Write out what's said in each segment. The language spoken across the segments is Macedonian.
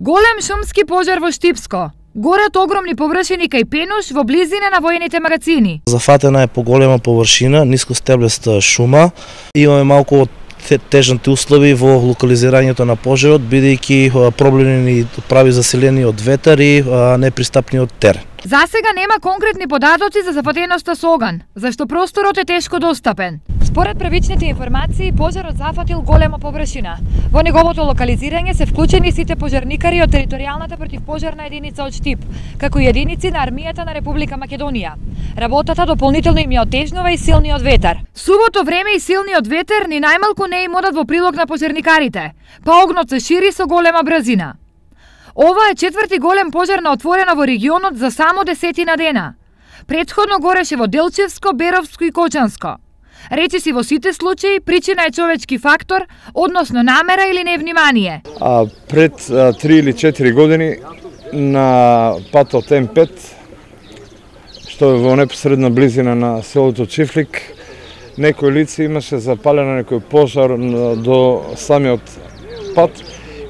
Голем шумски пожар во Штипско. Горат огромни површини кај Пенуш во близина на воените магазини. Зафатена е поголема површина, нискостеблеста шума. Имаме малку тежните услови во локализирањето на пожарот, бидејќи проблемни прави заселени од ветар и непристапни од терен. Засега нема конкретни податоци за зафатеноста со оган, зашто просторот е тешко достапен. Според првичните информации, пожарот зафатил голема површина. Во неговото локализирање се вклучени сите пожарникари од територијалната противпожарна единица од Штип, како и единици на армијата на Република Македонија. Работата дополнително им ја отежнува и силниот ветар. Сувото време и силниот ветер ни најмалку не им одат во прилог на пожарникарите, па огнот се шири со голема брзина. Ова е четврти голем пожар на отворено во регионот за само 10 дена. Претходно гореше во Делчевско, Беровско и Кочанско. Речиси во сите случаи причина е човечки фактор, односно намера или невнимание. Пред 3 или 4 години на патот М5, што е во непосредна близина на селото Чифлик, некој лице имаше запалено некој пожар до самиот пат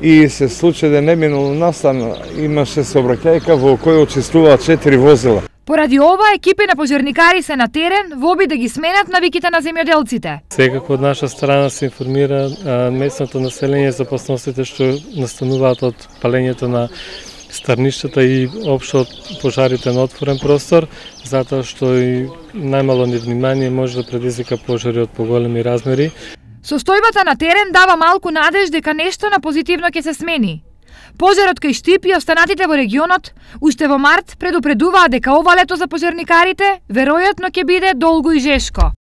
и се случи да не минало настан, имаше сообраќајка во која учествуваат 4 возила. Поради ова, екипи на пожарникари се на терен во обид да ги сменат навиките на земјоделците. Секако од наша страна се информира местното население за опасностите што настануваат од палењето на старништата и општо пожарите на отворен простор, затоа што и најмало невнимание може да предизвика пожари од поголеми размери. Состојбата на терен дава малку надеж дека нешто на позитивно ќе се смени. Пожарот кај Штип и останатите во регионот уште во март предупредуваа дека ова лето за пожарникарите веројатно ќе биде долго и жешко.